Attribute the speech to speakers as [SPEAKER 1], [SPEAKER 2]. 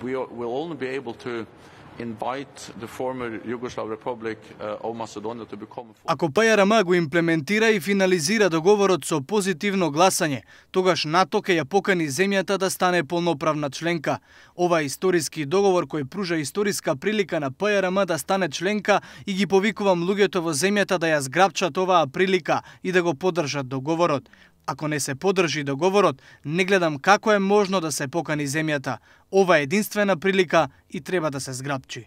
[SPEAKER 1] We will only be able to invite the former Yugoslav Republic of Macedonia to become a...
[SPEAKER 2] Ако ПЈРМ го имплементира и финализира договорот со позитивно гласање, тогаш НАТО ќе ја покани земјата да стане полноправна членка. Ова историски договор кој пружа историска прилика на ПЈРМ да стане членка и ги повикувам луѓето во земјата да ја зграпчат оваа прилика и да го поддржат договорот. Ако не се поддржи договорот, не гледам како е можно да се покани земјата. Ова е единствена прилика и треба да се зграпчи.